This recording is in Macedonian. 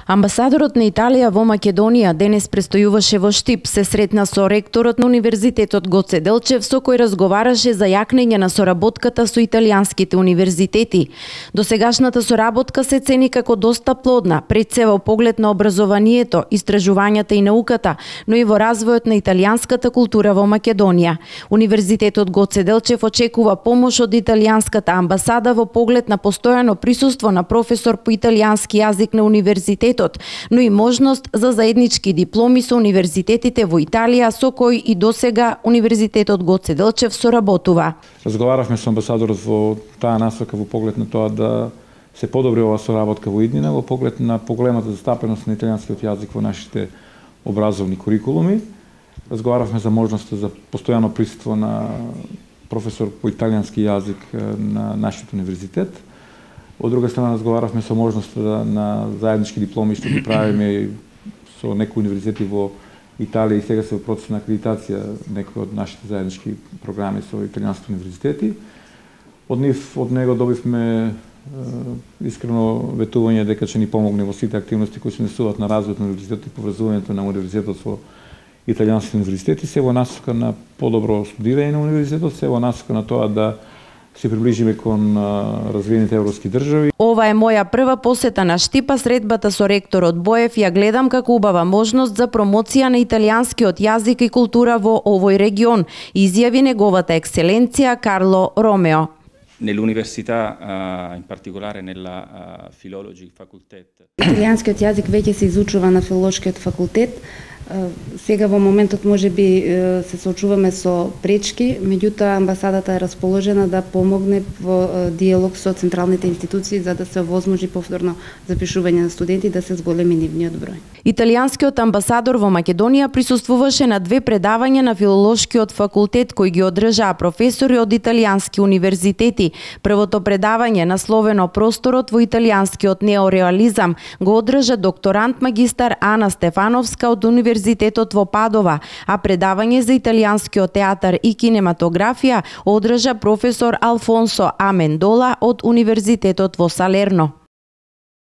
Амбасадорот на Италија во Македонија денес престојуваше во Штип, се сретна со ректорот на Универзитетот Гоце Делчев, со кој разговараше за јакнење на соработката со италијанските универзитети. Досегашната соработка се цени како доста плодна, пред се во поглед на образованието, истражувањата и науката, но и во развојот на италијанската култура во Македонија. Универзитетот Гоце Делчев очекува помош од италијанската амбасада во поглед на постојано присуство на професор по италијански јазик на универзитетот, но и можност за заеднички дипломи со универзитетите во Италија, со кои и досега Универзитетот Гоце Делчев соработува. Разговаравме со амбасадорот во таа насока во поглед на тоа да се подобри ова соработка во иднина, во поглед на поголемата застапеност на италијанскиот јазик во нашите образовни курикулуми. Разговаравме за можноста за постојано присуство на професор по италијански јазик на нашиот универзитет. Од друга страна разговаравме со можноста на заеднички дипломи што ги правиме со некои универзитети во Италија и сега се во процес на акредитација некои од нашите заеднички програми со италијанските универзитети. Од него добивме искрено ветување дека ќе ни помогне во сите активности кои се несуваат на развојот на универзитетот и поврзувањето на универзитетот со италијанските универзитети, се во насока на подобро студирање на универзитетот, се во насока на тоа да се приближиме кон развиените европски држави. Ова е моја прва посета на Штипа, средбата со ректорот Боев ја гледам како убава можност за промоција на италијанскиот јазик и култура во овој регион, изјави неговата екселенција Карло Ромео. Nell'università, in particolare nella Philology Facultet. Италијанскиот јазик веќе се изучува на филолошкиот факултет. Сега во моментот можеби се соочуваме со пречки, меѓутоа амбасадата е расположена да помогне во диалог со централните институции за да се овозможи повторно запишување на студенти да се зголеми нивниот број. Италијанскиот амбасадор во Македонија присуствуваше на 2 предавања на филолошкиот факултет кои ги одржаа професори од италијански универзитети. Првото предавање насловено Просторот во италијанскиот неореализам го одржа докторант магистар Ана Стефановска од Универзитетот во Падова, а предавање за италијанскиот театар и кинематографија одржа професор Алфонсо Амендола од Универзитетот во Салерно.